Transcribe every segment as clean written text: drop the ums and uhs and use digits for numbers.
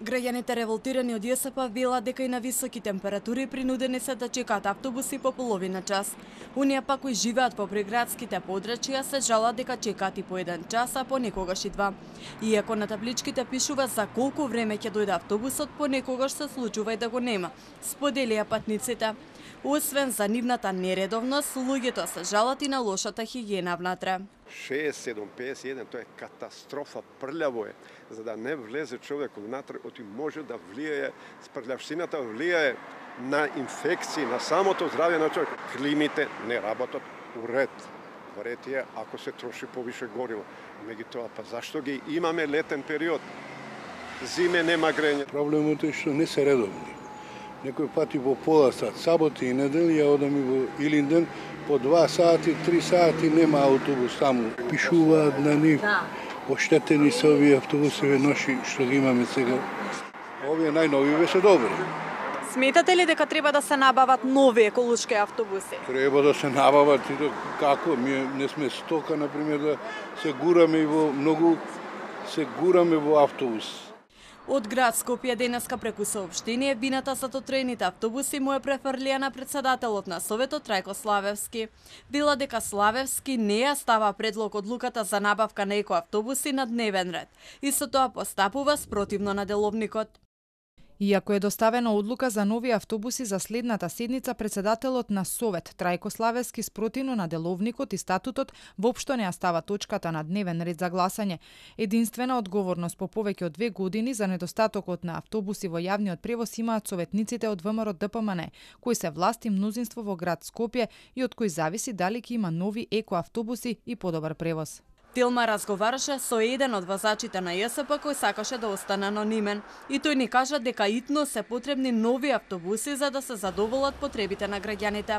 Граѓаните револтирани од ЈСП велат дека и на високи температури принудени се да чекаат автобуси по половина час. Оние пак кои живеат по приградските подрачја се жалат дека чекаат и по 1 час, а понекогаш и 2. Иако на табличките пишува за колку време ќе дојде автобусот, понекогаш се случува и да го нема, споделија патниците. Освен за нивната нередовност, луѓето се жалат и на лошата хигиена внатре. 6, 7, 51, тоа е катастрофа, прљаво е. За да не влезе човек внатре, оти може да влијае, спрљавштината влијае на инфекции, на самото здравје на човек. Климите не работат у ред. Во ред е ако се троши повише гориво. Меѓутоа, па зашто ги имаме летен период? Зиме нема грење. Проблемот е што не се редовни. Некој пати во пола сат, саботи и недели, ја одам и во Илинден, по 2 сати, 3 сати нема автобус таму. Пишуваат на нив, оштетени се овие автобусиве ноши што ги имаме сега. Овие најновиве се добри. Сметате ли дека треба да се набават нови еколошки автобуси? Треба да се набават и како? Ние не сме стока, например, да се гураме во многу, се гураме во автобус. Од град Скопје денеска преку соопштение вината за дотроените автобуси му е префрлија на председателот на Советот Трајко Славевски. Вела дека Славевски не ја става предлог одлуката за набавка на екоавтобуси на дневен ред. Исто тоа постапува спротивно на деловникот. Иако е доставена одлука за нови автобуси за следната седница, председателот на Совет Трајко Славевски спротивно на деловникот и статутот воопшто не ја става точката на дневен ред за гласање. Единствена одговорност по повеќе од 2 години за недостатокот на автобуси во јавниот превоз имаат советниците од ВМРО ДПМН, кои се власт и мнозинство во град Скопје и од кои зависи дали ќе има нови екоавтобуси и подобар превоз. Тилма разговараше со еден од возачите на ЈСП кој сакаше да остане анонимен. И тој ни кажа дека итно се потребни нови автобуси за да се задоволат потребите на граѓаните.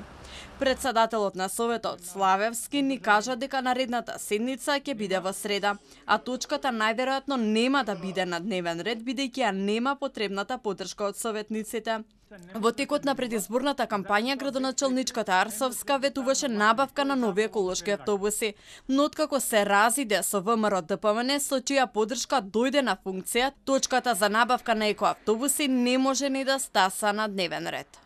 Председателот на Советот Славевски ни кажа дека наредната седница ќе биде во среда, а точката најверојатно нема да биде на дневен ред бидејќи ја нема потребната поддршка од советниците. Во текот на предизборната кампања градоначалничката Арсовска ветуваше набавка на нови еколошки автобуси, но откако се разиде со ВМРО ДПМН со чија поддршка дојде на функција, точката за набавка на екоавтобуси не може ни да стаса на дневен ред.